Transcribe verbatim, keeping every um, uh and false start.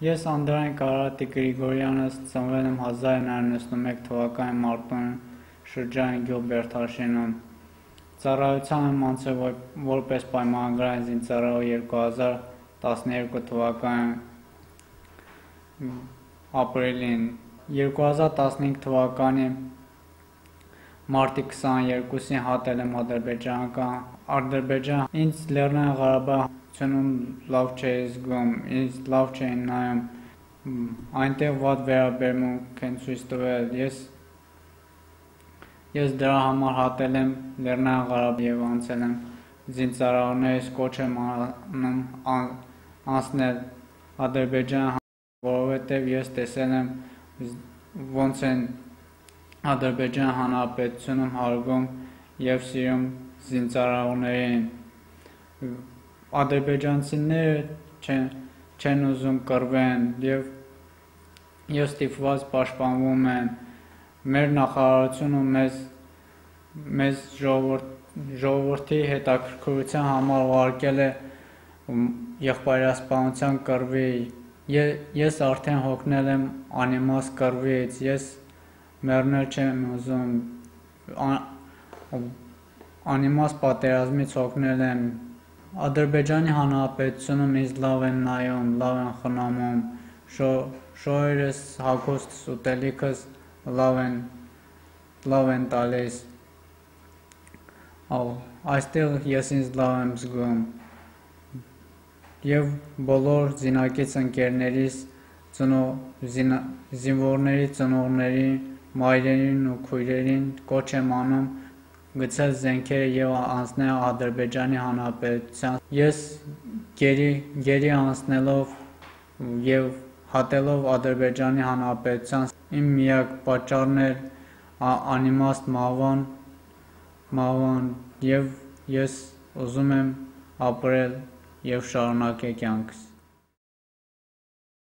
Ես Անդրանիկ Արարատի Գրիգորյանը ծնվել եմ հազար նույնսուն նվեցանասունմեկ թվականի մարտին շրջանի գյուղ Բերդաշինում։ Ծառայության եմ անցել որպես պայմանագրային զինծառայող երկու հազար տասներկու թվականի ապրիլին։ երկու հազար տասնհինգ թվականի մարտի քսաներկուսին հատել եմ Ադրբեջան։ Ինձ Լեռնային Ղարաբաղում լավ չէի զգում, ինձ լավ չէին նայում, այնտեղ վատ վերաբերմունք են ցույց տվել։ Ես դրա համար հատել եմ Լեռնային Ղարաբաղ և անցել եմ զինծառայողներից կոչ եմ անում անցնել Ադրբեջան, որովհետև ես տեսել եմ ոնց են Ադրբեջան Հանրապետությունում հարգում և սիրում զինծառայողներին։ Ադրբեջանցիները չեն ուզում կռվեն և ստիպված պաշտպանվում են։ Մեր նախարարությունը մեզ ժողովրդի հետաքրքրության համար ուղարկել է եղբայրասպանության կռվի։ Ես արդեն հոգնել եմ անիմաստ կռվից, ես մեռնել չեմ ուզում, անիմաստ պատերազմից հոգնել եմ։ Ադրբեջանի Հանրապետությունում ինձ լավ են նայում, լավ են խնամում, շորերս, հագուստս, ուտելիքս լավ են տալիս, այստեղ ես ինձ լավ եմ զգում և բոլոր զինակից ընկերներիս, զինվորների ծնողներին, մայրերին ու քույրերին կոչ եմ անում գցել զենքերը և անցնել Ադրբեջանի Հանրապետության։ Ես գերի անցնելով և հատելով Ադրբեջանի Հանրապետության, իմ միակ պատճառն էր անիմաստ մահվան և ես ուզում եմ ապրել և շարունակել կյանքս։